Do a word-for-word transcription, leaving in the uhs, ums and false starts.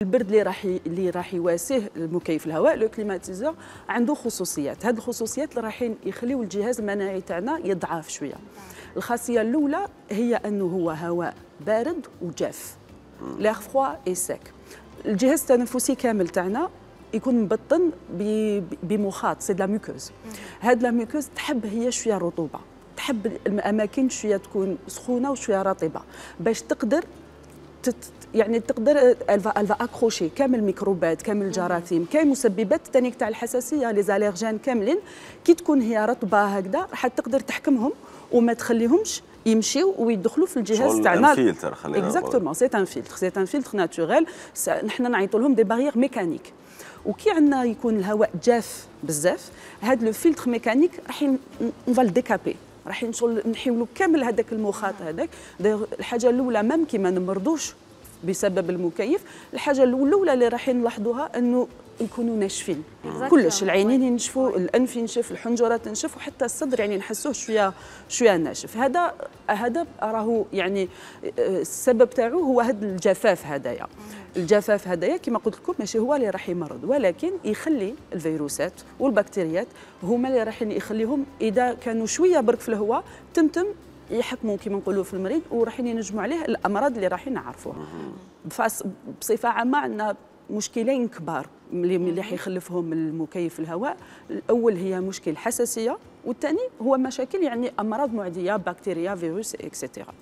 البرد اللي راح اللي راح يواسيه المكيف الهواء لو كليماتيزور عنده خصوصيات. هذه الخصوصيات اللي راح يخليو الجهاز المناعي تاعنا يضعف شويه. الخاصيه الاولى هي انه هو هواء بارد وجاف، ليغ فروا اي سيك. الجهاز التنفسي كامل تاعنا يكون مبطن بمخاط، سي لا ميكوز. هاد لا ميكوز تحب هي شويه رطوبه، تحب الاماكن شويه تكون سخونه وشويه رطبه باش تقدر تت يعني تقدر الفا الفا اكروشي كامل الميكروبات، كامل الجراثيم، كاين مسببات ثاني تاع الحساسيه لي زاليرجين كاملين كي تكون هي رطبه هكذا راح تقدر تحكمهم وما تخليهمش يمشيو ويدخلوا في الجهاز تاعنا. فلتر خلينا نقول اكزاكتومون سي ان فلتر، سي ان فلتر ناتوريل. نحن نعيطوا لهم دي باريير ميكانيك. وكي عندنا يكون الهواء جاف بزاف، هذا لو فلتر ميكانيك راح نفال ديكابي، راح نحيولوا كامل هذاك المخاط هذاك. الحاجه الاولى مام كي ما نمرضوش بسبب المكيف، الحاجه الاولى اللي راح نلاحظوها انه يكونوا ناشفين كلش، العينين ينشفوا، الانف ينشف، الحنجره تنشف، وحتى الصدر يعني نحسوه شويه شويه ناشف. هذا هذا راهو يعني السبب تاعو هو هذا الجفاف هذايا. الجفاف هذايا كما قلت لكم ماشي هو اللي راح يمرض، ولكن يخلي الفيروسات والبكتيريات هما اللي راح يخليهم اذا كانوا شويه برك في الهواء تمتم يحكموا كما نقولوا في المريض، وراح ينجموا عليه الامراض اللي راح نعرفوها. بصفه عامه عندنا مشكلين كبار اللي راح يخلفهم المكيف الهواء. الاول هي مشكل حساسيه، والثاني هو مشاكل يعني امراض معديه، بكتيريا، فيروس، اكسترا.